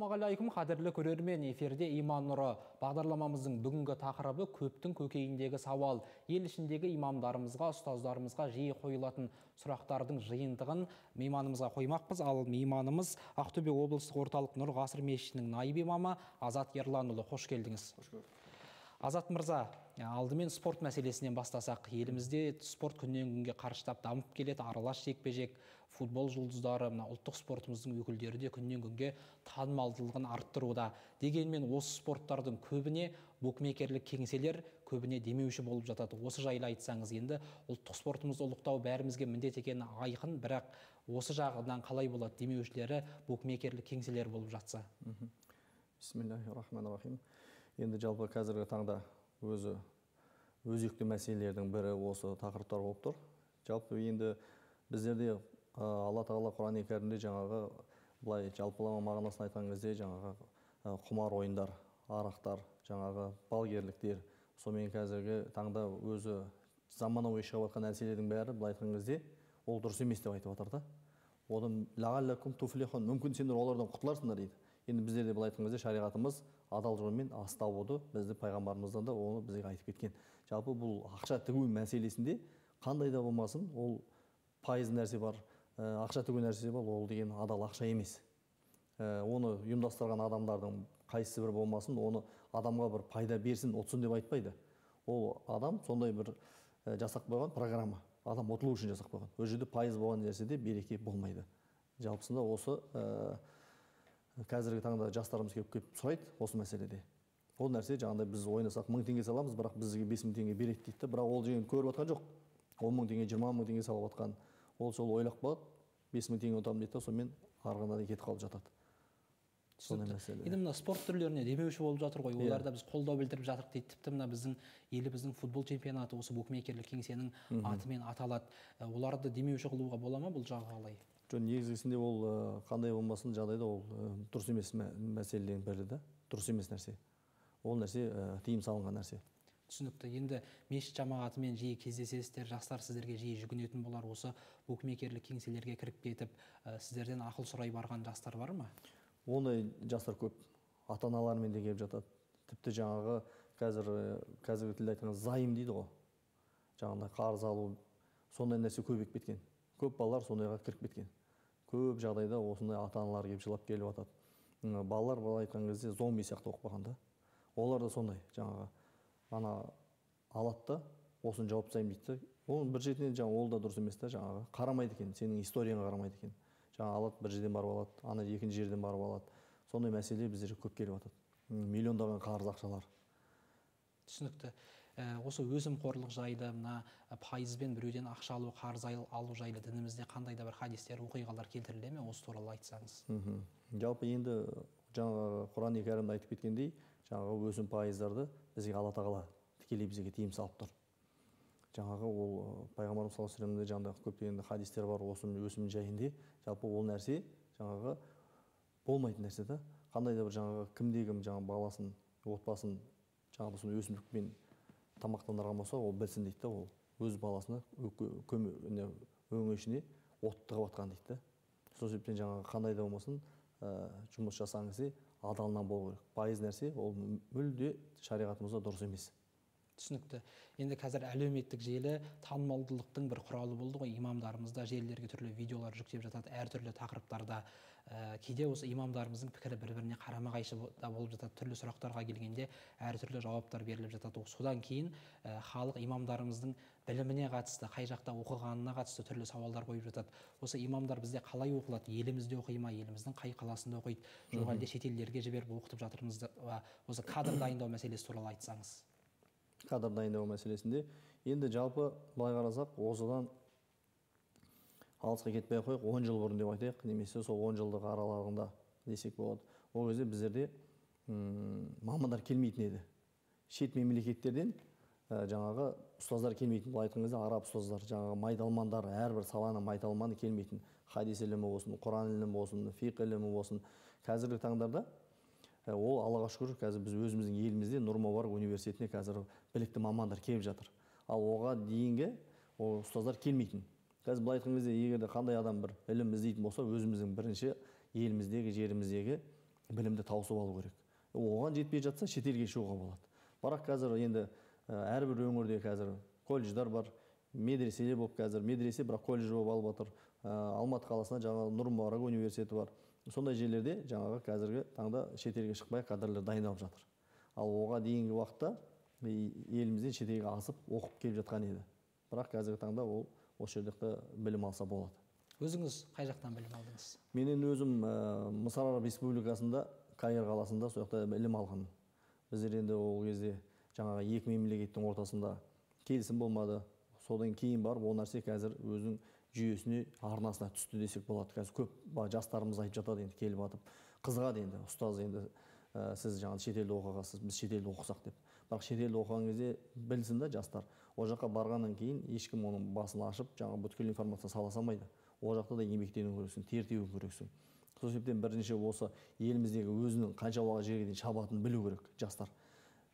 Ассалаумағалейкум, қадірлі көрермен, эфирде иман нұры. Бағдарламамыздың бүгінгі тақырыбы көптің көкейіндегі сауал. Ел ішіндегі имамдарымызға, ұстаздарымызға жиі қойылатын сұрақтардың жиынтығын мейманымызға қоймақпыз. Ал мейманымыз Ақтөбе облыстық орталық Нұр Ғасыр мешітінің наиб имамы Азат Ерланұлы. Қош келдіңіз. Қош көрдік. Азат мырза, алдымен спорт мәселесінен бастасақ. Елімізде спорт күннен күнге қарыштап дамып келеді, аралас жекпе-жек, футбол жұлдыздары, ұлттық спортымыздың өкілдері де күннен күнге танымалдылығын арттыруда. Дегенмен осы спорттардың көбіне букмекерлік кеңселер, көбіне демеуші болып жатады. Осы жайлы айтсаңыз, енді ұлттық спортымызды ұлықтау бәрімізге міндет екені айқын, бірақ осы жағынан қалай болады, демеушілері букмекерлік кеңселер болып жатса? Бисмиллахир-рахманир-рахим. Енді жалпы қазіргі таңда өзекті мәселелердің бірі осы тақырыптар болып тұр. Жалпы енді біздерде Алла Тағала Құран-ы Кәрімде жаңағы былай жалпылама мағынасын айтқан кезде жаңағы құмар ойындар, арақтар, жаңағы балгерліктер, сонымен қазіргі таңда өзі заманауи шығып жатқан нәрселердің бәрі былай айтқан кезде ол дұрыс емес деп айтып жатыр да. Одан лағаллакум туфлихун, мүмкін сендер олардан құтыларсыңдар дейді. Енді біздерде былай айтқан кезде шариғатымыз адал жолмен астауды бізді пайғамбарымыздан да оны бізге айтып кеткен. Жалпы бұл ақша тігу мәселесінде қандай да болмасын, ол пайыз нәрсе бар, ақша тігу нәрсе бар, ол деген адал ақша емес. Оны ұйымдастырған адамдардың қайсысы бір болмасын, оны адамға бір пайда берсін, ұтсын деп айтпайды. Ол адам сондай бір жасақ қойған программа. Адам ұтылу үшін жасақ қойған. Ол жерде пайыз болған нәрседе береке болмайды. Жалпысында осы қазіргі таңда жастарымыз келіп сұрайды осы мәселеде. Ол нәрсе жаңағыдай біз ойнасақ 1000 теңге саламыз, бірақ бізге 5000 теңге береді дейді. Бірақ ол деген көріп отқан жоқ. 10 000 теңге, 20 000 теңге салып отқан. Ол сол ойлап қалады, 5000 теңге ұтамын дейді, сонымен арғанда кетіп қалып жатады. Сондай мәселе. Енді мына спорт түрлеріне демеуші болып жатыр ғой. Оларда біз қолдау білдіріп жатырық дейді. Тіпті мына біздің еліміздің футбол чемпионаты осы букмекерлік кеңсенің атымен аталады. Оларды демеуші қылуға бола ма, бұл жағы қалай? Негізгісінде ол қандай болмасын жағдайда ол дұрыс емес мәселенің бірі да, дұрыс емес нәрсе. Ол нәрсе тыйым салынған нәрсе. Түсінікті. Енді мешіт жамағатымен жиі кездесесіздер, жастар сіздерге жиі жүгінетін болар, осы букмекерлік кеңселерге кіріп кетіп, сіздерден ақыл сұрай барған жастар бар ма? Ондай жастар көп. Ата-аналарымен де келіп жатады. Тіпті жаңағы қазіргі тілде айтқан зайым дейді ғой. Жаңағыдай қарыз алу, сондай нәрсе көбейіп кеткен. Көп балалар сондайға кіріп кеткен. Көп жағдайда осындай ата-аналар келіп жылап келіп жатады. Балалар былай айтқан кезде зомби сияқты оқып қалған да. Олар да сондай, жаңағы ана алады да, осыны жауап тастаймын дейді. Ол бір жерден жаңағы ол да дұрыс емес та, жаңағы қарамайды екен, сенің историяңа қарамайды екен. Жаңа алады, бір жерден барып алады, ана екінші жерден барып алады. Сондай мәселе біздерге көп келіп жатады. Миллиондаған қарыз ақшалар. Түсінікті. Осы өзім қорлық жайлы, мына пайызбен біреуден ақша алу, қарыз алу жайлы дінімізде қандай да бір хадистер, оқиғалар келтіріле ме? Осы туралы айтсаңыз. Жалпы енді жаңағы Құран-ы Кәрімде айтып кеткендей, жаңағы өсім пайыздарды бізге Алла Тағала тікелей бізге тыйым салып тұр. Жаңағы ол пайғамбарымыз саллаллаху алейхи вассаламда жаңағы көптеген хадистер бар өсім жайында. Жалпы ол нәрсе жаңағы болмайтын нәрсе да. Қандай да бір жаңағы кімде-кім жаңағы баласын, отбасын жаңағы соны өсімдікпен тамақтандырған болса, ол білсін дейді, ол өз баласына өңешіне от тығып атқан дейді. Сол себептен жаңағы қандай да болмасын жұмыс жасаңыз адалынан болу керек. Пайыз нәрсе ол мүлде шариғатымызда дұрыс емес. Түсінікті. Енді қазір әлеуметтік желі танымалдылықтың бір құралы болды ғой. Имамдарымызда желілерге түрлі видеолар жүктеп жатады, әртүрлі тақырыптарда. Кейде осы имамдарымыздың пікірі бір-біріне қарама-қайшы да болып жатады. Түрлі сұрақтарға келгенде әртүрлі жауаптар беріліп жатады. Содан кейін халық имамдарымыздың біліміне қатысты, қай жақта оқығанына қатысты түрлі сауалдар қойып жатады. Осы имамдар бізде қалай оқылады? Елімізде оқи ма? Еліміздің қай қаласында оқиды? Жоқ әлде шетелдерге жіберіп оқытып жатырмыз? Осы кадр дайындау мәселесі туралы айтсаңыз. Кадр дайындау мәселесінде енді жалпы былай қарасақ, осыдан алысқа кетпей қойық, 10 жыл бұрын деп айтайық, немесе сол 10 жылдық аралығында десек болады. Ол кезде біздерде мамандар келмейтін еді. Шет мемлекеттерден жаңағы ұстаздар келмейтін. Бұл айтқан кезде араб ұстаздар, жаңағы майталмандар, әрбір саланы майталманы келмейтін. Хадис ілімі болсын, Құран ілімі болсын, фиқ ілімі болсын. Қазіргі таңдарда ол Аллаға шүкір, қазір біз өзіміздің елімізде Нұр-Мүбарак университетіне қазір білікті мамандар келіп жатыр. Ал оған дейінгі ұстаздар келмейтін. Қазір былай айтқан кезде, егер қандай адам бір ілім іздейтін болса, өзіміздің бірінші еліміздегі, жеріміздегі білімді таусып алу керек. Оған жетпей жатса шетелге шығуға болады. Бірақ қазір енді әрбір өңірде қазір колледждар бар, медреселер болып қазір медресе бірақ колледж болып алып отыр. Алматы қаласында жаңағы Нұр-Мүбарак университеті бар. Сондай жерлерде жаңағы қазіргі таңда шетелге шықпай кадрлар дайындалып жатыр. Ал оған дейінгі уақытта елімізден шетелге асып оқып келіп жатқан еді. Бірақ қазіргі таңда ол осы жерде білім алса болады. Өзіңіз қай жақтан білім алдыңыз? Менен өзім Мысыр Араб Республикасында Каир қаласында сол жақта білім алғанмын. Біздер енді ол кезде жаңағы екі мемлекеттің ортасында келісім болмады. Содан кейін барып ол нәрсе қазір өзінің жүйесіне, арнасына түсті десек болады. Қазір көп жастарымыз айтып жатады, енді келіп атып қызығады, енді ұстаз, енді сіз жаңағы шетелде оқығансыз, біз шетелде оқысақ деп. Бірақ шетелде оқыған кезде білсін да жастар, ол жаққа барғаннан кейін ешкім оның басын ашып, жаңағы бүткіл информация сала салмайды. Ол жақта да еңбектену керексің, тер тебу керексің. Сол себептен бірінші осы еліміздегі өзінің қанша уақыт жерге дейін шабатынын білу керек жастар.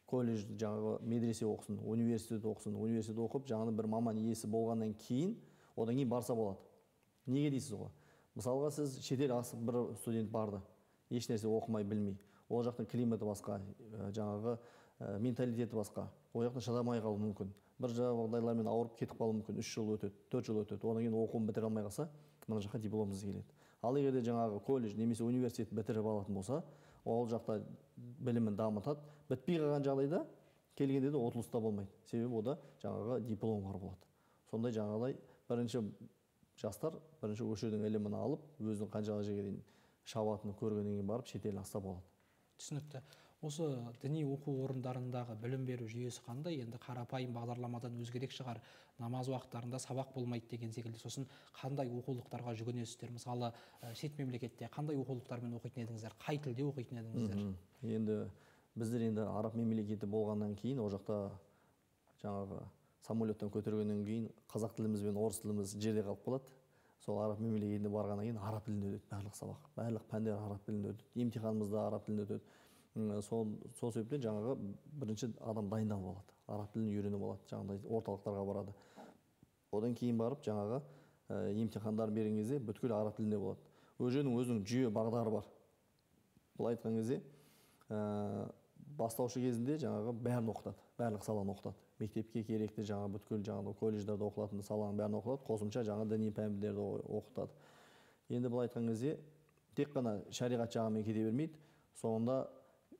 Колледж, жаңағы медресе оқысын, университет оқысын, университет оқып, жаңағы бір маман иесі болғаннан кейін, одан кейін барса болады. Неге дейсіз ғой? Мысалға сіз шетел асып бір студент барды, еш нәрсе оқымай білмей. Ол жақтың климаты басқа, жаңағы менталитеті басқа. Ол жақтан шыдамай қалуы мүмкін. Бір жағдайлармен ауырып кетіп қалуы мүмкін. 3 жыл өтеді, 4 жыл өтеді. Одан кейін оқуын бітіре алмай қалса, мына жаққа дипломсыз келеді. Ал егер де жаңағы колледж немесе университет бітіріп алатын болса, ол жақта білімін дамытады. Бітпей қалған жағдайда келгенде де отылыста болмайды. Себебі ода жаңағы диплом бар болады. Сондай жаңағыдай бірінші жастар бірінші осы жердің ілімін алып, өзінің қанша жерге дейін шабатыны көргеннен кейін барып шетел асса болады. Түсінікті. Осы діни оқу орындарындағы білім беру жүйесі қандай? Енді қарапайым бағдарламадан өзгерек шығар. Намаз уақыттарында сабақ болмайды деген секілді. Сосын қандай оқулықтарға жүгінесіздер? Мысалы, шет мемлекетте қандай оқулықтармен оқитын едіңіздер? Қай тілде оқитын едіңіздер? Енді біздер енді араб мемлекеті болғаннан кейін, ол жақта жаңағы самолеттен көтергеннен кейін қазақ тіліміз бен орыс тіліміз жерде қалып қалады. Сол араб мемлекетіне барғаннан кейін араб тілінде өтеді барлық сабақ. Барлық пәндер араб тілінде өтеді. Емтиханымыз да араб тілінде өтеді. Сол себептен жаңағы бірінші адам дайындалып алады. Араб тілін үйреніп алады, жаңағыдай орталықтарға барады. Одан кейін барып жаңағы емтихандар берген кезде бүткіл араб тілінде болады. Ол жердің өзінің жүйе бағдары бар. Бұл айтқан кезде бастаушы кезінде жаңағы бәрін оқытады, барлық саланы оқытады. Мектепке керекті жаңағы бүткіл жаңағы колледждарда оқылатын саланың бәрін оқытады, қосымша жаңа діни пәндерді оқытады. Енді бұл айтқан кезде тек қана шариғат жағымен кете бермейді. Соңында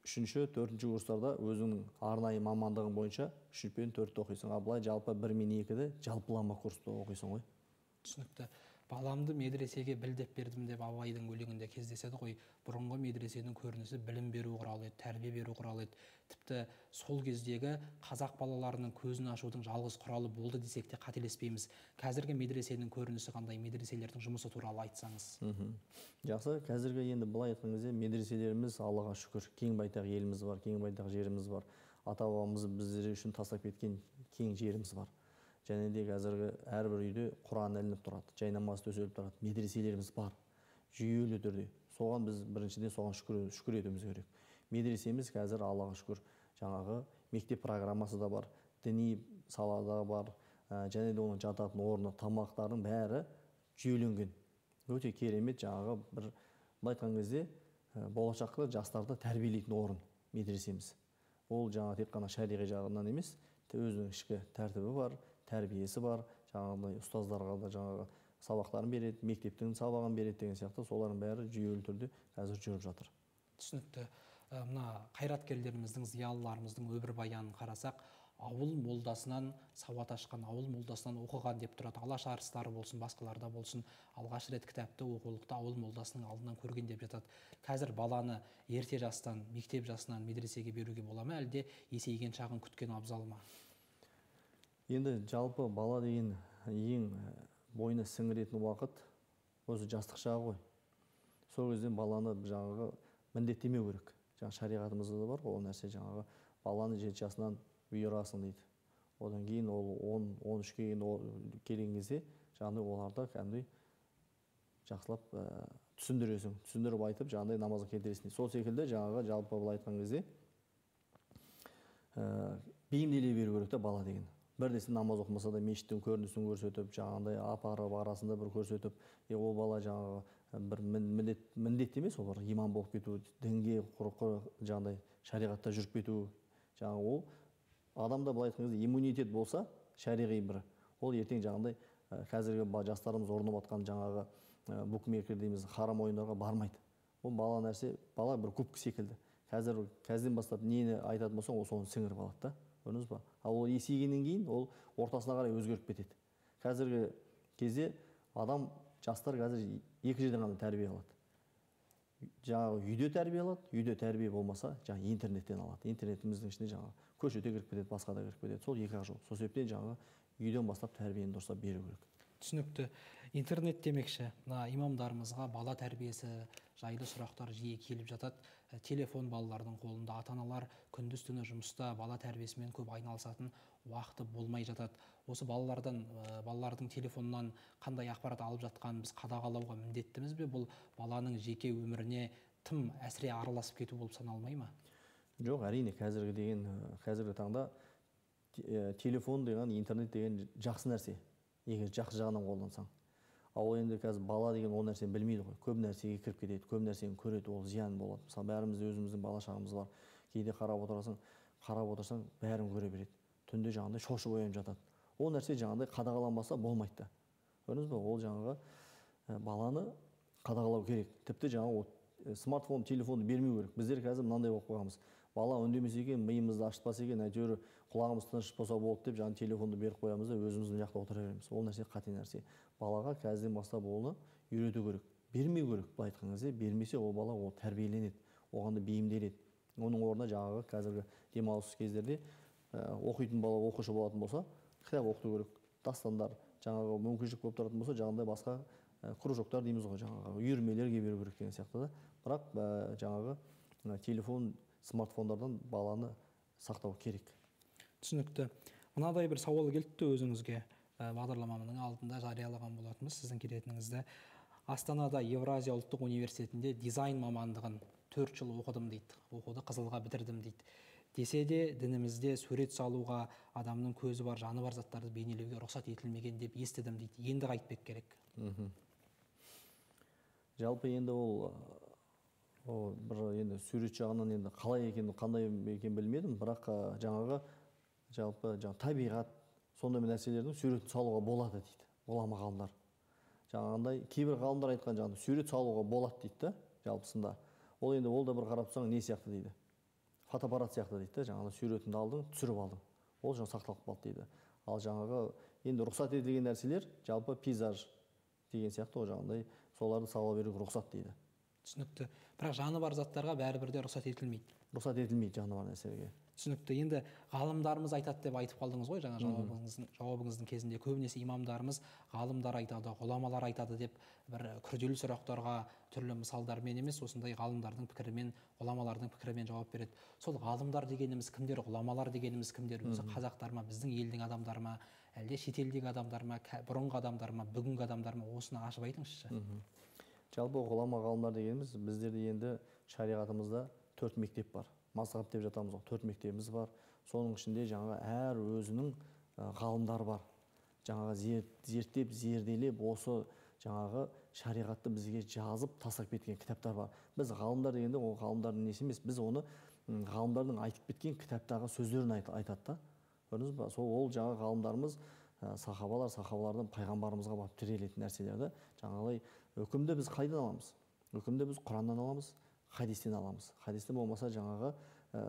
3-ші, 4-ші курстарда өзінің арнайы мамандығың бойынша 3 пен 4-ті оқисың. А былай жалпы 1 мен 2-ді жалпылама курста оқисың ғой. Түсінікті. Баламды медресеге білдеп бердім деп Абайдың өлеңінде кездеседі ғой. Бұрынғы медресенің көрінісі білім беру құралы еді, тәрбие беру құралы еді. Тіпті сол кездегі қазақ балаларының көзін ашудың жалғыз құралы болды десек те қателеспейміз. Қазіргі медресенің көрінісі қандай, медреселердің жұмысы туралы айтсаңыз? Жақсы, қазіргі енді былай айтқан кезде медреселеріміз Аллаға шүкір, кең байтақ еліміз бар, кең байтақ жеріміз бар. Ата-бабамыз біздер үшін тастап кеткен кең жеріміз бар. Және де қазіргі әрбір үйде Құран ілініп тұрады, жай намаз төселіп тұрады, медреселеріміз бар, жүйелі түрде. Соған біз біріншіден соған шүкір етуіміз керек. Медресеміз қазір Аллаға шүкір жаңағы мектеп программасы да бар, діни салада бар, және де оның жататын орны, тамақтардың бәрі жүйеленген. Өте керемет жаңағы бір айтқан кезде болашақта жастарды тәрбиелейтін орын медресеміз. Ол жаңағы тек қана шариғи жағынан емес, өзінің ішкі тәртібі бар, тәрбиесі бар, жаңағыдай ұстаздарға да жаңағы сабақтарын береді, мектептің сабағын береді деген сияқты солардың бәрі жүйелі түрде қазір жүріп жатыр. Түсінікті. Мына қайраткерлеріміздің, зиялыларымыздың өмірбаянын қарасақ, ауыл молдасынан сауат ашқан, ауыл молдасынан оқыған деп тұрады. Алаш арыстары болсын, басқаларда болсын, алғаш рет кітапты оқулықты ауыл молдасының алдынан көрген деп жатады. Қазір баланы ерте жастан, мектеп жасынан медресеге беруге бола ма, әлде есейген шағын күткен абзал ма? Енді жалпы бала деген ең бойына сіңіретін уақыт өзі жастық шағы ғой. Сол кезде баланы жаңағы міндеттемеу керек. Жаңағы шариғатымызда да бар ғой, ол нәрсе жаңағы баланы 7 жасынан бұйырасың дейді. Одан кейін ол 10-13-ке келген кезде жаңағыдай оларды кәдімгідей жақсылап түсіндіріп айтып, жаңағыдай намазға келтіресің. Сол секілді жаңағы жалпы былай айтқан кезде бейімделе беру керек те бала деген. бірдесе намаз оқымаса да мешіттің көрінісін көрсетіп, жаңағындай апарып арасында бір көрсетіп, ол бала жаңағы бір міндет емес, олар имам болып кету, дінге жаңағыдай шариғатта жүріп кету, жаңағы ол адамда былай айтқан кезде иммунитет болса, шариғи бір, ол ертең жаңағындай қазіргі жастарымыз орнап жатқан жаңағы букмекер дейміз, харам ойындарға бармайды. Ол бала нәрсе, бала бір кубка секілді. Қазірден бастап нені айтатын болсаң, ол соны сіңіріп алады да. Көрдіңіз ба? Ал ол есейгеннен кейін ол ортасына қарай өзгеріп кетеді. Қазіргі кезде жастар қазір екі жерден ғана тәрбие алады. Жаңағы үйде тәрбие алады, үйде тәрбие болмаса, жаңағы интернеттен алады. Интернетіміздің ішінде жаңағы көшеде кіріп кетеді, басқа да кіріп кетеді. Сол екі жол. Сол себептен жаңағы үйден бастап тәрбиені дұрыстап беру керек. Түсінікті. Интернет демекші, мына имамдарымызға бала тәрбиесі жайлы сұрақтар жиі келіп жатады. Телефон балалардың қолында, ата-аналар күндіз-түні жұмыста бала тәрбиесімен көп айналысатын уақыты болмай жатады. Осы балалардың телефоннан қандай ақпарат алып жатқанын біз қадағалауға міндеттіміз бе? Бұл баланың жеке өміріне тым әсіре араласып кету болып саналмай ма? Жоқ, әрине қазіргі таңда телефон деген, интернет деген жақсы нәрсе. Егер жақсы жағынан қолдансаң. Ал енді қазір бала деген ол нәрсені білмейді ғой. Көп нәрсеге кіріп кетеді, көп нәрсені көреді, ол зиян болады. Мысалы, бәрімізде өзіміздің бала шағамыз бар. Кейде қарап отырсаң, бәрін көре береді. Түнде жаңағыдай шошып оянып жатады. Ол нәрсе жаңағыдай қадағаланбаса болмайды да. Көрдіңіз бе? Ол жаңағы баланы қадағалау керек. Тіпті жаңағы смартфон, телефонды бермеу керек. Біздер қазір мынандай болып қойғанбыз. Бала үндемесе екен, миымызды ашытпаса екен, әйтеуір құлағымыз тыныш болса болды деп, жаңағы телефонды беріп қоямыз да өзіміз мына жақта отыра береміз. Ол нәрсе қате нәрсе. Балаға қазірден бастап оны үйрету керек. Бермеу керек. Былай айтқан кезде бермесе ол бала ол тәрбиеленеді, оған да бейімделеді. Оның орнына жаңағы қазіргі демалыс кездерде оқитын бала оқушы болатын болса, кітап оқыту керек. Дастандар, жаңағы мүмкіншілік болып тұратын болса, жаңағыдай басқа кружоктар дейміз ғой, жаңағы үйірмелерге беру керек деген сияқты да. Бірақ жаңағы телефон, смартфондардан баланы сақтау керек. Түсінікті. Мынадай бір сауал келді өзіңізге. Бағдарламамның алдында жариялаған болатынбыз сіздің келетініңізді. Астанада Евразия ұлттық университетінде дизайн мамандығын 4 жыл оқыдым дейді. Оқуды қызылға бітірдім дейді. Десе де дінімізде сурет салуға, адамның көзі бар, жаны бар заттарды бейнелеуге рұқсат етілмеген деп естідім дейді. Енді қайтпек керек. Жалпы енді ол бір енді сурет жағынан енді қалай екен, қандай екен білмедім, бірақ жаңағы жалпы табиғат сондай нәрселердің суретін салуға болады дейді ғұлама ғалымдар. Жаңағындай кейбір ғалымдар айтқан жаңағы сурет салуға болады дейді да, жалпысында. Ол енді ол да бір қарап тұрсаң не сияқты дейді. Фотоаппарат сияқты дейді да, жаңағы суретіңді алдың, түсіріп алдың. Ол жаңағы сақталып қалды дейді. Ал жаңағы енді рұқсат етілген нәрселер жалпы пейзаж деген сияқты ол жаңағындай соларды сала беруге рұқсат дейді. Түсінікті. Бірақ жаны бар заттарға бәрібір де рұқсат етілмейді. Рұқсат етілмейді жаны бар нәрселерге. Түсінікті. Енді ғалымдарымыз айтады деп айтып қалдыңыз ғой жаңа жауабыңыздың кезінде. Көбінесе имамдарымыз ғалымдар айтады, ғұламалар айтады деп бір күрделі сұрақтарға түрлі мысалдармен емес, осындай ғалымдардың пікірімен, ғұламалардың пікірімен жауап береді. Сол ғалымдар дегеніміз кімдер, ғұламалар дегеніміз кімдер? Өзі қазақтар ма, біздің елдің адамдары ма, әлде шетелдегі адамдар ма, бұрынғы адамдар ма, бүгінгі адамдар ма? Осыны ашып айтыңызшы. Жалпы ғұлама ғалымдар дегеніміз біздерде енді шариғатымызда 4 мектеп бар. Мазхаб деп жатамыз ғой, 4 мектебіміз бар. Соның ішінде жаңағы әр өзінің ғалымдар бар. Жаңағы зерттеп, зерделеп, осы жаңағы шариғатты бізге жазып, тастап кеткен кітаптар бар. Біз ғалымдар дегенде ол ғалымдардың несі емес, біз оны ғалымдардың айтып кеткен кітаптағы сөздерін айтады да. Көрдіңіз ба? Ол жаңағы ғалымдарымыз сахабалардан пайғамбарымызға барып тірелетін нәрселерді жаңағылай үкімді біз қайдан аламыз? Үкімді біз Құраннан аламыз, хадистен аламыз. Хадисте болмаса жаңағы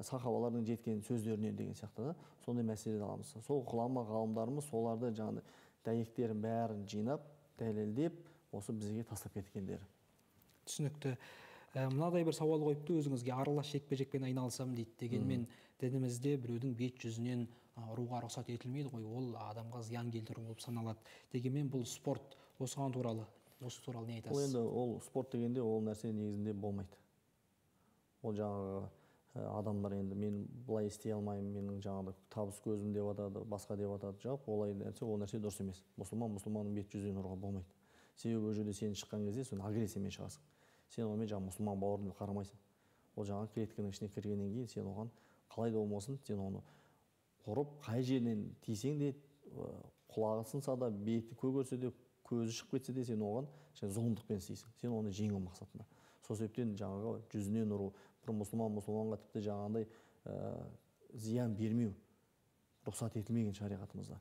сахабалардың жеткен сөздерінен деген сияқты да, сондай мәселелерді аламыз. Сол ғұлама ғалымдарымыз соларды жаңағы дәйектерін бәрін жинап, дәлелдеп, осы бізге тастап кеткендері. Түсінікті. Мынадай бір сауал қойыпты өзіңізге, аралас жекпе-жекпен айналысам дейді. Дегенмен дінімізде біреудің бет жүзінен ұруға рұқсат етілмейді ғой, ол адамға зиян келтіру болып саналады. Дегенмен бұл спорт. Осы туралы не айтасыз? Ол енді ол спорт дегенде ол нәрсе негізінде болмайды. Ол жаңағы адамдар енді мен бұлай істей алмаймын, менің жаңағы табыс көзім деп атады, басқа деп атады. Жоқ, олай нәрсе, ол нәрсе дұрыс емес. Мұсылманның бет жүзінен ұруға болмайды. Себебі ол жерде сен шыққан кезде сен агрессиямен шығасың. Сен онымен жаңағы мұсылман бауырын қарамайсың. Ол жаңағы клетканың ішіне кіргеннен кейін сен оған қалай да болмасын, сен оны ұрып қай жерінен тисең де құлағы сынса да беті көгерсе де көзі шығып кетсе де сен оған зұлымдықпен істейсің, сен оны жеңу мақсатында. Сол себептен жаңағы жүзінен ұру, бір мұсылманға тіпті жаңағындай зиян бермеу рұқсат етілмеген шариғатымызда.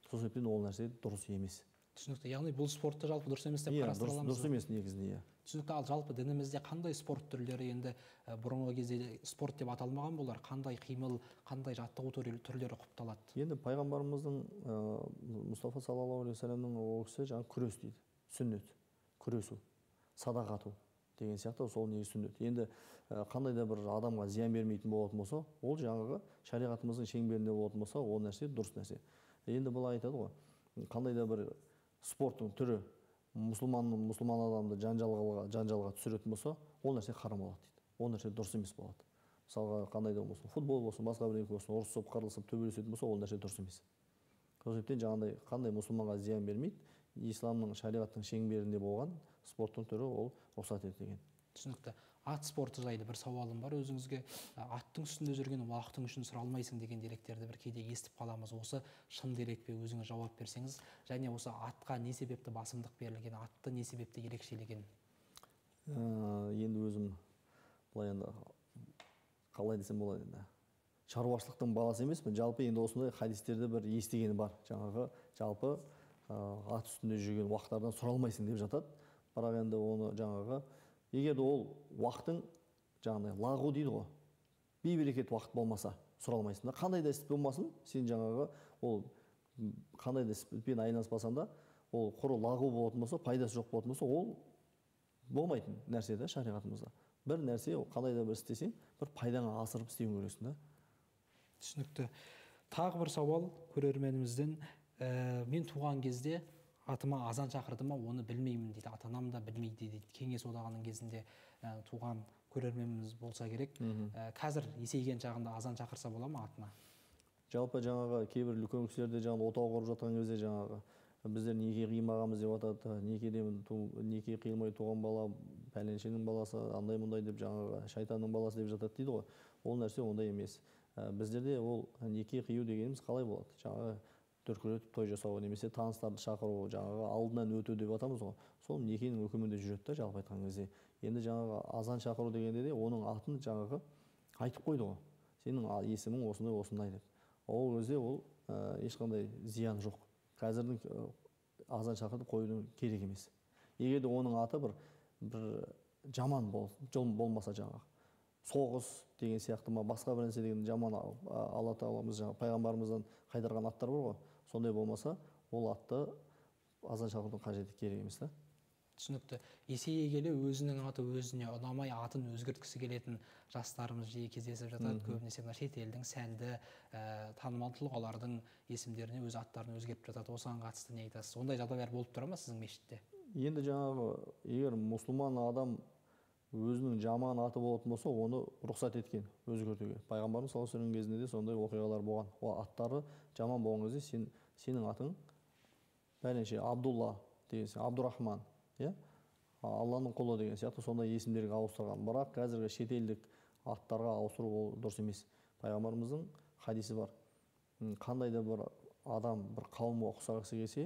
Сол себептен ол нәрсе дұрыс емес. Түсінікті. Яғни бұл спортты жалпы дұрыс емес деп қарастыра аламыз. Дұрыс емес негізінде, иә. Түсінікті. Ал жалпы дінімізде қандай спорт түрлері, енді бұрынғы кезде спорт деп аталмаған болар, қандай қимыл, қандай жаттығу түрлері құпталады? Енді пайғамбарымыздың Мұстафа саллаллаху алейхи вассаламның ол кісі жаңағы күрес дейді, сүннет, күресу, садақ ату деген сияқты, сол негізі сүннет. Енді қандай да бір адамға зиян бермейтін болатын болса, ол жаңағы шариғатымыздың шеңберінде болатын болса, ол нәрсе дұрыс нәрсе. Енді бұл айтады ғой, қандай да бір спорттың түрі мұсылман адамды жанжалға түсіретін болса, ол нәрсе харам болады дейді. Ол нәрсе дұрыс емес болады. Мысалға, қандай да болсын, футбол болсын, басқа бірдеңе болсын, ұрысып, қырылысып, төбелесетін болса, ол нәрсе дұрыс емес. Сол себептен жаңағыдай қандай мұсылманға зиян бермейді, исламның шариғаттың шеңберінде болған спорттың түрі ол рұқсат етілген. Түсінікті. Ат спорты жайлы бір сауалым бар өзіңізге. Аттың үстінде жүрген уақытың үшін сұралмайсың деген деректерді бір кейде естіп қаламыз. Осы шын дерек пе, өзіңіз жауап берсеңіз, және осы атқа не себепті басымдық берілген, атты не себепті ерекшелеген? Енді өзім былай енді қалай десем болады, енді шаруашылықтың баласы емеспін. Жалпы енді осындай хадистерді бір естігені бар. Жаңағы жалпы ат үстінде жүрген уақыттардан сұралмайсың деп жатады. Бірақ енді оны жаңағы егер ол уақытың жаңағыдай лағу дейді ғой, бейберекет уақыт болмаса сұралмайсың да. Қандай да іс болмасын, сен жаңағы ол қандай да іспен айналыспасаң да, ол құр лағу болатын болса, пайдасы жоқ болатын болса, ол болмайтын нәрсе да шариғатымызда. Бір нәрсе, қандай да бір істесең, бір пайдаңа асырып істеуің керексің да. Түсінікті. Тағы бір сауал көрерменімізден. Мен туған кезде атыма азан шақырды ма, оны білмеймін дейді. Ата-анам да білмейді дейді. Кеңес одағының кезінде туған көрерменіміз болса керек. Қазір есейген шағында азан шақырса бола ма атына? Жалпы жаңағы кейбір үлкен кісілерде жаңағы отау құрып жатқан кезде жаңағы біздер неке қимағанбыз деп атады. Неке қиылмай туған бала пәленшенің баласы, андай мұндай деп жаңағы шайтанның баласы деп жатады дейді ғой. Ол нәрсе ондай емес. Біздерде ол неке қию дегеніміз қалай болады? Жаңағы дүркіретіп той жасау немесе таныстарды шақыру, жаңағы алдынан өту деп атамыз ғой. Сол некенің үкімінде жүреді да, жалпы айтқан кезде. Енді жаңағы азан шақыру дегенде де оның атын жаңағы айтып қойды ғой. Сенің есімің осындай деп. Ол кезде ол ешқандай зиян жоқ. Қазірдің азан шақыртып қоюдың керек емес. Егер де оның аты бір жаман болмаса, жаңағы соғыс деген сияқты ма, басқа бір нәрсе деген жаман, Алла тағаламыз жаңағы пайғамбарымыздан қайтарған аттар бар ғой, сондай болмаса, ол атты азан шақырудың қажеті керек емес та. Түсінікті. Есейе келе өзінің аты өзіне ұнамай атын өзгерткісі келетін жастарымыз жиі кездесіп жатады. Көбінесе шет елдің сәнді, танымал тұлғалардың есімдеріне өз аттарын өзгертіп жатады. Осыған қатысты не айтасыз? Ондай жағдайлар болып тұра ма сіздің мешітте? Енді жаңағы егер мұсылман адам өзінің жаман аты болатын болса, оны рұқсат еткен өзгертуге. Пайғамбарымыз саллаллаху алейхи вассалам кезінде де сондай оқиғалар болған. Ол аттары жаман болған кезде сенің атың бәленше Абдулла деген, Абдурахман, Алланың құлы деген сияқты сондай есімдерге ауыстырған. Бірақ қазіргі шетелдік аттарға ауыстыру ол дұрыс емес. Пайғамбарымыздың хадисі бар. Қандай да бір адам бір қауымға ұқсағысы келсе,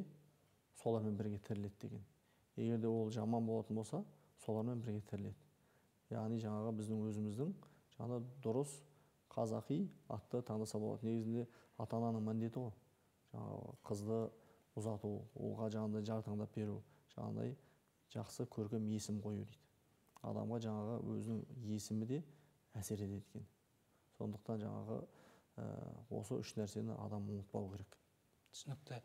солармен бірге тіріледі деген. Егер де ол жаман болатын болса, солармен бірге тіріледі. Яғни жаңағы біздің өзіміздің жаңағы дұрыс қазақи атты таңдаса болады. Негізінде ата-ананың міндеті ғой. Жаңағы қызды ұзату, оған жаңағыдай жар таңдап беру, жаңағыдай жақсы көркем есім қою дейді. Адамға жаңағы өзінің есімі де әсер етеді екен. Сондықтан жаңағы осы үш нәрсені адам ұмытпау керек. Түсінікті.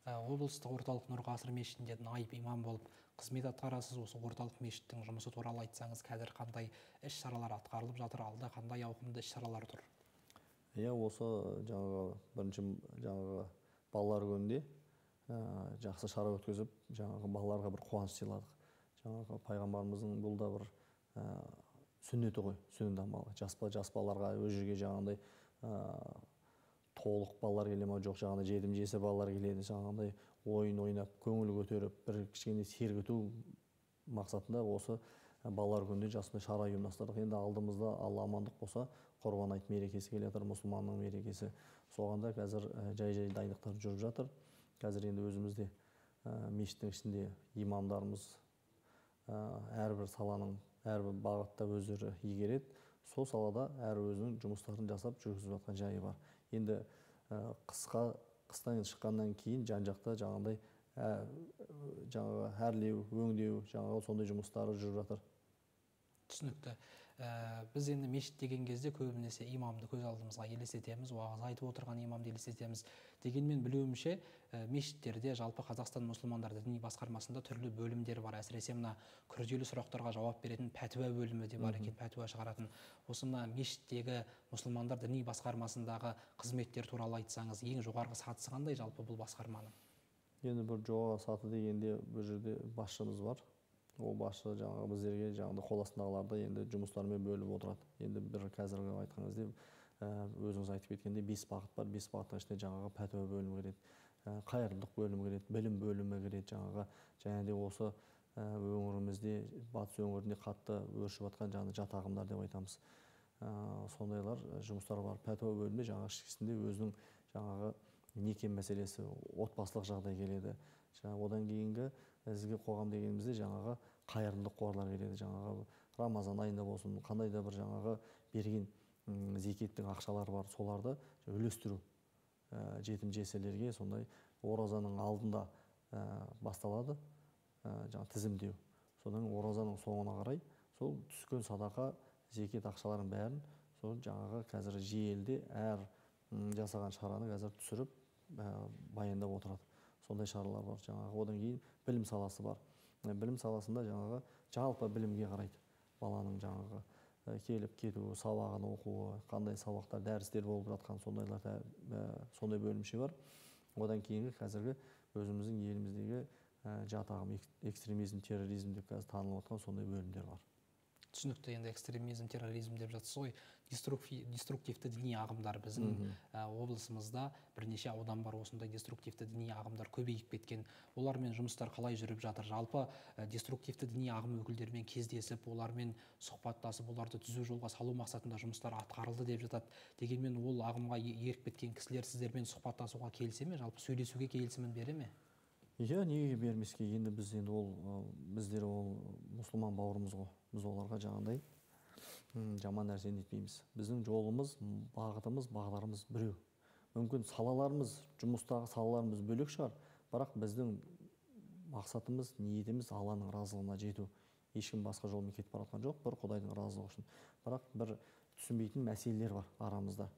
Облыстық орталық Нұр Ғасыр мешітінде наиб имам болып қызмет атқарасыз. Осы орталық мешіттің жұмысы туралы айтсаңыз, қазір қандай іс-шаралар атқарылып жатыр, алда қандай ауқымды іс-шаралар тұр? Осы жаңағы бірінші жаңағы балалар күнінде жақсы шара өткізіп, жаңағы балаларға бір қуаныш сыйладық. Жаңағы пайғамбарымыздың бұл да бір сүннеті ғой, сүннет амалы. Жас балаларға өз жерге жаңағындай толық балалар келе ма, жоқ жаңағындай жетім жесір балалар келеді, жаңағындай ойын ойнап, көңіл көтеріп, бір кішкене сергіту мақсатында осы балалар күнінде жасында шара ұйымдастырдық. Енді алдымызда Алла амандық болса, Құрбан айт мерекесі келе жатыр, мұсылманның мерекесі. соғанда қазір жай дайындықтар жүріп жатыр. Қазір енді өзімізде мешіттің ішінде имамдарымыз әрбір саланың әрбір бағытта өздері игереді. Сол салада әр өзінің жұмыстарын жасап жүргізіп жатқан жайы бар. Енді қыстан шыққаннан кейін жан-жақта жаңағыдай әрлеу, өңдеу, сондай жұмыстары жүріп жатыр. Түсінікті. Біз енді мешіт деген кезде көбінесе имамды көз алдымызға елестетеміз, уағыз айтып отырған имамды елестетеміз. Дегенмен білуімше, мешіттерде жалпы Қазақстан мұсылмандар діни басқармасында түрлі бөлімдер бар. Әсіресе мына күрделі сұрақтарға жауап беретін пәтуа бөлімі де бар екен, пәтуа шығаратын. Осы мына мешіттегі мұсылмандар діни басқармасындағы қызметтер туралы айтсаңыз, ең жоғарғы сатысы қандай жалпы бұл басқарманың? Енді бір жоғарғы саты дегенде бұл жерде басшымыз бар. Ол басшы біздерге қол астындағыларды енді жұмыстармен бөліп отырады. Енді бір қазіргі айтқан кезде өзіңіз айтып кеткенде 5 бағыт бар. 5 бағыттың ішінде пәтуа бөлімі кіреді, қайырымдылық бөлімі кіреді, білім бөлімі кіреді. Және де осы өңірімізде, батыс өңірінде қатты өршіп жатқан жат ағымдар деп айтамыз. Сондайлар жұмыстар бар. Пәтуа бөлімінде ішінде өзінің неке мәселесі, отбасылық жағдай келеді. Одан кейінгі бізге қоғам дегенімізде қайырымдылық қорлар келеді. Рамазан айында болсын, қандай да бір берген зекеттің ақшалары бар, соларды үлестіру. Жетім жесірлерге сондай оразаның алдында басталады, тізімдеу. Содан оразаның соңына қарай сол түскен садақа, зекет ақшаларын бәрін сол қазір желіде әр жасаған шараны қазір түсіріп баяндап отырады. Сондай шаралар бар. Одан кейін білім саласы бар. Білім саласында жалпы білімге қарайды. Баланың келіп кетуі, сабағын оқуы, қандай сабақтар, дәрістер болып жатқан сондай бөлімше бар. Одан кейінгі қазіргі өзіміздің еліміздегі жат ағым, экстремизм, терроризм деп қазір танылып отқан сондай бөлімдер бар. Түсінікті, енді экстремизм, терроризм деп жатсыз ғой. Деструктивті діни ағымдар біздің облысымызда бірнеше аудан бар, осындай деструктивті діни ағымдар көбейіп кеткен. Олармен жұмыстар қалай жүріп жатыр? Жалпы деструктивті діни ағым өкілдерімен кездесіп, олармен сұхбаттасып, оларды түзу жолға салу мақсатында жұмыстар атқарылды деп жатады. Дегенмен ол ағымға еріп кеткен кісілер сіздермен сұхбаттасуға келсе ме, жалпы сөйлесуге келісімін бере ме? Иә, неге бермеске? Енді біздер ол мұсылман бауырымыз ғой. Біз оларға жаман нәрсені етпейміз. Біздің жолымыз, бағытымыз, бағдарымыз біреу. Мүмкін салаларымыз, жұмыстағы салаларымыз бөлек шығар, бірақ біздің мақсатымыз, ниетіміз Алланың разылығына жету. Ешкім басқа жолмен кетіп бара жатқан жоқ, бір Құдайдың разылығы үшін. Бірақ бір түсінбейтін мәселелер бар арамызда.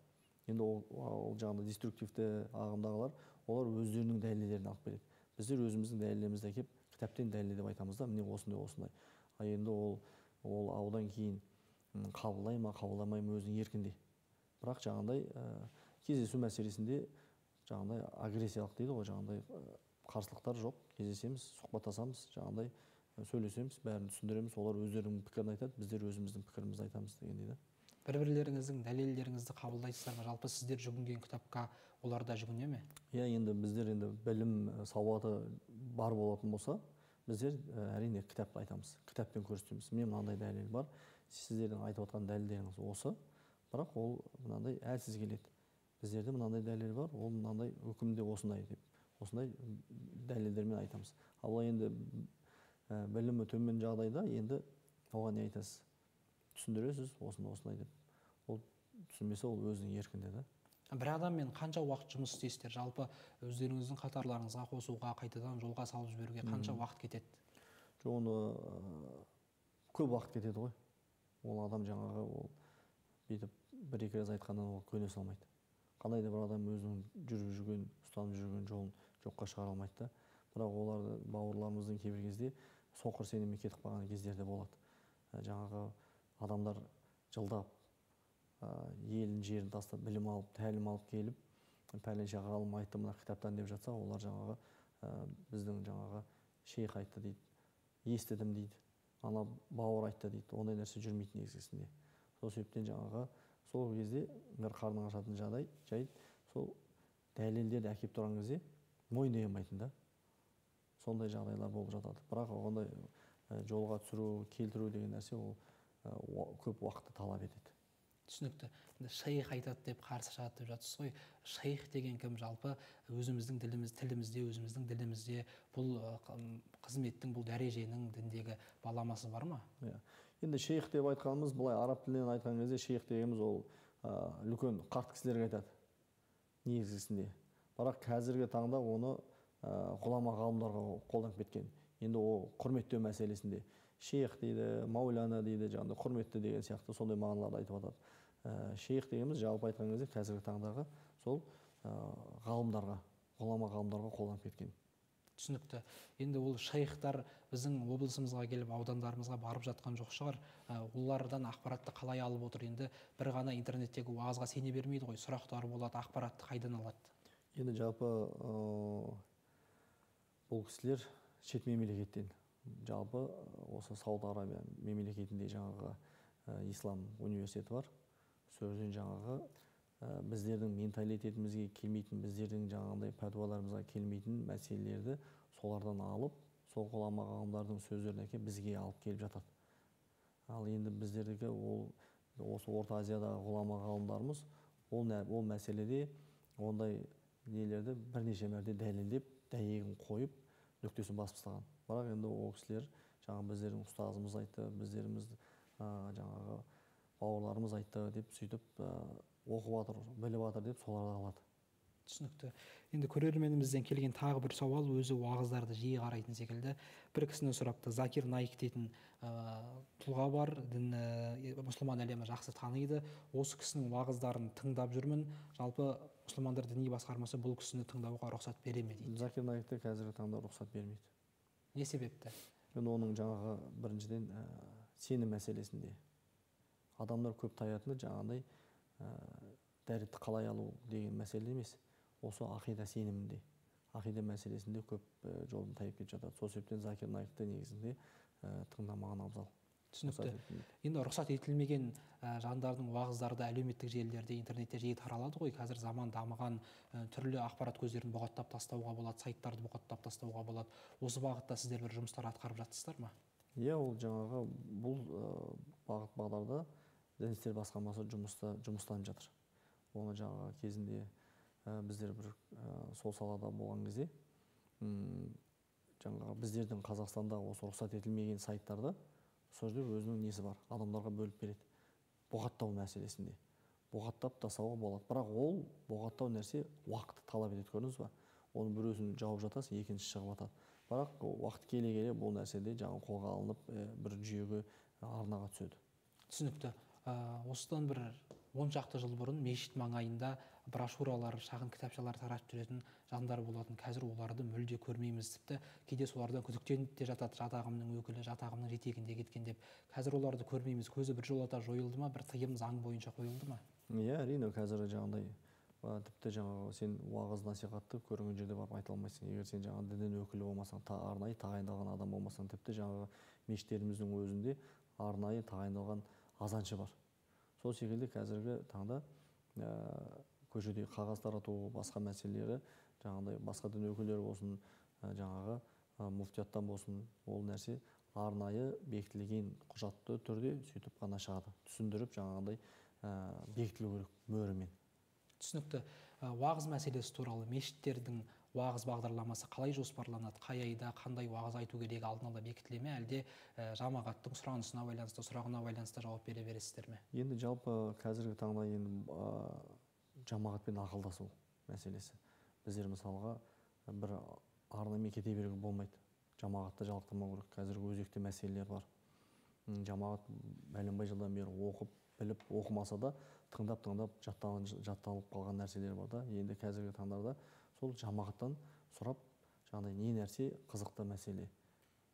Енді ол деструктивті ағымдағылар, олар өздерінің дәлелдерін алып келеді. Біздер өзіміздің дәлелдерімізді әкеп, кітаптен дәлелдеп айтамыз да, міне осындай. Енді ол аудан кейін қабылдай ма, қабылдамай ма өзінің еркінде. Бірақ кездесу мәселесінде агрессиялық дейді ғой, қарсылықтар жоқ. Кездесеміз, сұхбаттасамыз, сөйлесеміз, бәрін түсіндіреміз. Олар өздерінің пікірін айтады, біздер өзіміздің пікірімізді айтамыз дегендей да. Бір-бірлеріңіздің дәлелдеріңізді қабылдайсыздар ма? Жалпы сіздер жүгінген кітапқа олар да жүгіне ме? Иә, енді біздер білім сауаты бар болатын болса, біздер әрине кітапты айтамыз, кітаппен көрсетеміз. Мен мынандай дәлел бар, сіздердің айтып отқан дәлелдеріңіз осы, бірақ ол мынандай әлсіз келеді. Біздерде мынандай дәлел бар, ол мынандай үкімде осындай деп, осындай дәлелдермен айтамыз. Ал енді білімі төмен жағдайда енді оған не айтасыз? Түсіндіресіз, осындай деп. Ол түсінбесе, ол өзінің еркінде да. Бір адаммен қанша уақыт жұмыс істейсіздер? Жалпы өздеріңіздің қатарларыңызға қосуға, қайтадан жолға салып жіберуге қанша уақыт кетеді? Оны көп уақыт кетеді ғой. Ол адам бүйтіп бір-екі рет айтқаннан ол көне салмайды. Қандай да бір адам өзінің жүріп жүрген, ұстанып жүрген жолын жоққа шығара алмайды да. Бірақ оларды бауырларымыздың кейбір кезде соқыр сенімге кетіп қалған кездерде болады. Адамдар жылдап елін жерін тастап білім алып, тәлім алып келіп, пәленше ғалым айтты мына кітаптан деп жатса, олар біздің шейх айтты дейді, естідім дейді, ана бауыр айтты дейді, ондай нәрсе жүрмейтін негізгісінде. Сол себептен сол кезде бір қарның ашатын жайт, сол дәлелдерді әкеп тұрған кезде мойындай алмайтын да. Сондай жағдайлар болып жатады. Бірақ ондай жолға түсіру, келтіру деген нәрсе ол көп уақытты талап етеді. түсінікті. Енді шейх айтады деп қарсы шығады деп жатсыз ғой. Шейх деген кім? Жалпы өзіміздің тілімізде, өзіміздің ділімізде бұл қызметтің, бұл дәреженің діндегі баламасы бар ма? Иә. Енді шейх деп айтқанымыз, былай араб тілінен айтқан кезде шейх дегеніміз ол үлкен қарт кісілерге айтады негізгісінде. Бірақ қазіргі таңда оны ғұлама ғалымдарға қолданып кеткен. Енді ол құрметтеу мәселесінде шейх дейді, мауляна дейді, жаңағыдай құрметті деген сияқты сондай мағыналарды айтып жатады. Шейх дегеніміз жалпы айтқан кезде қазіргі таңдағы сол ғалымдарға, ғұлама ғалымдарға қолданып кеткен. Түсінікті. Енді ол шейхтар біздің облысымызға келіп, аудандарымызға барып жатқан жоқ шығар. Олардан ақпаратты қалай алып отыр? Енді бір ғана интернеттегі уағызға сене бермейді ғой. Сұрақтар болады, ақпаратты қайдан алады? Енді жалпы бұл кісілер шет мемлекеттен, жалпы осы Сауд Арабия мемлекетінде жаңағы ислам университеті бар. Сол жерден жаңағы біздердің менталитетімізге келмейтін, біздердің жаңағыдай пәтуаларымызға келмейтін мәселелерді солардан алып, сол ғұлама ғалымдардың сөздерін әкеліп бізге алып келіп жатады. Ал енді біздердегі осы Орта Азиядағы ғұлама ғалымдарымыз ол мәселеде ондай нелерді бірнеше мәрте дәлелдеп, дәйегін қойып, нүктесін басып тастаған. Бірақ енді ол кісілер жаңағы біздердің ұстазымыз айтты, біздеріміз жаңағы бауырларымыз айтты деп сөйтіп оқып жатыр, біліп жатыр деп соларды алады. Түсінікті. Енді көрерменімізден келген тағы бір сауал, өзі уағыздарды жиі қарайтын секілді. Бір кісіні сұрапты. Закир Наик дейтін тұлға бар, мұсылман әлемі жақсы таниды. Осы кісінің уағыздарын тыңдап жүрмін. Жалпы мұсылмандар діни басқармасы бұл кісіні тыңдауға рұқсат бере ме дейді. Закир Наикті қазіргі таңда рұқсат бермейді. Не себепті? Енді оның жаңағы біріншіден сенім мәселесінде. Адамдар көп таятыны жаңағыдай дәретті қалай алу деген мәселе емес. Осы ақида сенімінде, ақида мәселесінде көп жолын тайып кетіп жатады. Сол себептен Закир Наикті негізінде тыңдамаған абзал. Түсінікті. Енді рұқсат етілмеген жандардың уағыздары әлеуметтік желілерде, интернетте жиі таралады ғой. Қазір заман дамыған, түрлі ақпарат көздерін бұғаттап тастауға болады, сайттарды бұғаттап тастауға болады. Осы бағытта сіздер бір жұмыстар атқарып жатсыздар ма? Иә, ол жаңағы бұл бағыт бағдарда Дін істер басқармасы жұмыстанып жатыр. Оны жаңағы кезінде біздер бір сол салада болған кезде жаңағы біздердің Қазақстанда осы рұқсат етілмеген сайттарды сол жерде өзінің несі бар, адамдарға бөліп береді. Бұғаттау мәселесінде. Бұғаттап тастауға болады. Бірақ ол бұғаттау нәрсе уақытты талап етеді, көрдіңіз ба? Оның біреусін жауып жатасыз, екіншісі шығып жатады. Бірақ уақыт келе бұл нәрседе жаңағы қолға алынып бір жүйеге арнаға түседі. Түсінікті. Осыдан бір 10 шақты жыл бұрын мешіт маңайында брошюралар, шағын кітапшалар таратып жүретін жандар болатын. Қазір оларды мүлде көрмейміз. Тіпті кейде солардан күдіктеніп те жатады, жатағымның өкілі, жатағымның жетегінде кеткен деп. Қазір оларды көрмейміз. Көзі біржолата жойылды ма, бір тыйым заң бойынша қойылды ма? Иә, әрине, қазір жаңағыдай тіпті жаңағы сен уағыз насихатты көрген жерде барып айта алмайсың. Егер сен жаңағы діннің өкілі болмасаң, арнайы тағайындалған адам болмасаң, тіпті жаңағы мешіттеріміздің өзінде арнайы тағайындалған азаншы бар. Сол секілді қазіргі таңда көшеде қағаз тарату, басқа мәселелері, жаңағыдай басқа дін өкілдері болсын, жаңағы муфтияттан болсын, ол нәрсе арнайы бекітілген құжатты түрде сөйтіп қана шығады. Түсіндіріп жаңағыдай бекітілу керек мөрімен. Түсінікті. Уағыз мәселесі туралы мешіттердің уағыз бағдарламасы қалай жоспарланады? Қай айда қандай уағыз айту керек алдын ала бекітіле ме, әлде жамағаттың сұранысына байланысты, сұрағына байланысты жауап бере бересіздер ме? Енді жалпы қазіргі таңда енді жамағатпен ақылдасу мәселесі. Біздер мысалға бір арнаймен кете беруге болмайды. Жамағатты жалықтырмау керек. Қазіргі өзекті мәселелер бар. Жамағат бәленбай жылдан бері оқып, біліп, оқымаса да тыңдап жатталып қалған нәрселер бар да. Енді қазіргі таңдарда сол жамағаттан сұрап, жаңағыдай не нәрсе қызықты мәселе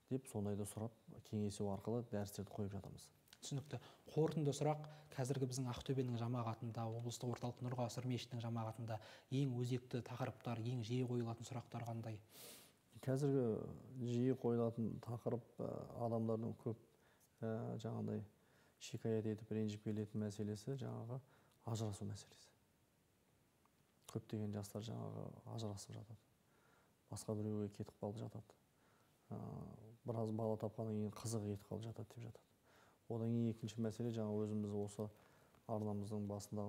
деп сондайды сұрап, кеңесу арқылы дәрістерді қойып жатамыз. Түсінікті. Қорытынды сұрақ, қазіргі біздің Ақтөбенің жамағатында, облыстық орталық Нұрғасыр мешітінің жамағатында ең өзекті тақырыптар, ең жиі қойылатын сұрақтар қандай? Қазіргі жиі қойылатын тақырып адамдардың көп жаңағыдай шикаят етіп ренжіп келетін мәселесі жаңағы ажырасу мәселесі. Көптеген жастар жаңағы ажырасып жатады. Басқа біреуге кетіп қалып жатады. Біраз бала тапқаннан кейін қызығы кетіп қалып жатады деп жатады. Одан кейін екінші мәселе жаңа өзіміз осы арнамыздың басында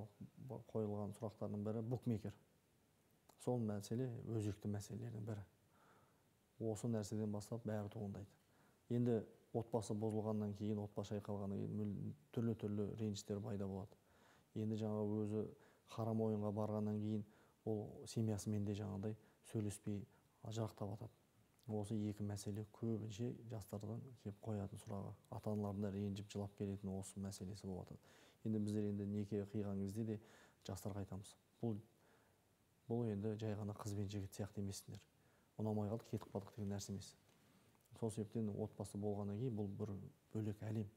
қойылған сұрақтардың бірі букмекер. Сол мәселе өзекті мәселелердің бірі. Осы нәрседен бастап бәрі туындайды. Енді отбасы бұзылғаннан кейін, отбасы шайқалғаннан кейін түрлі ренжістер пайда болады. Енді жаңа өзі харам ойынға барғаннан кейін ол семьясымен де жаңағыдай сөйлеспей ажырақтап жатады. Осы екі мәселе көбінше жастардан келіп қоятын сұрағы. Ата-аналардың да ренжіп жылап келетін осы мәселесі болып жатады. Енді біздер енді неке қиған кезде де жастарға айтамыз. Бұл енді жай ғана қыз бен жігіт сияқты емессіңдер. Ұнамай қалдық, кетіп қалдық деген нәрсе емес. Сол себептен отбасы болғаннан кейін бұл бір бөлек әлем.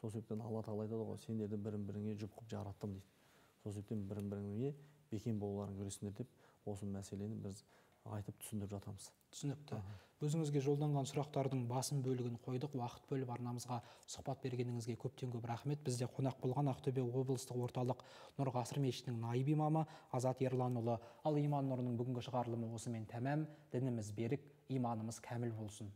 Сол себептен Алла тағала айтады ғой, сендерді бірін-біріңе жұп қылып жараттым дейді. Сол себептен бірін-біріңе бекем болуларың керексіңдер деп, осы мәселені біз айтып түсіндіріп жатамыз. Түсінікті. Өзіңізге жолданған сұрақтардың басым бөлігін қойдық. Уақыт бөліп арнамызға сұхбат бергеніңізге көптен көп рахмет. Бізде қонақ болған Ақтөбе облыстық орталық Нұр Ғасыр мешітінің наиб имамы Азат Ерланұлы. Ал иман нұрының бүгінгі шығарылымы осымен тәмам. Дініміз берік, иманымыз кәміл болсын.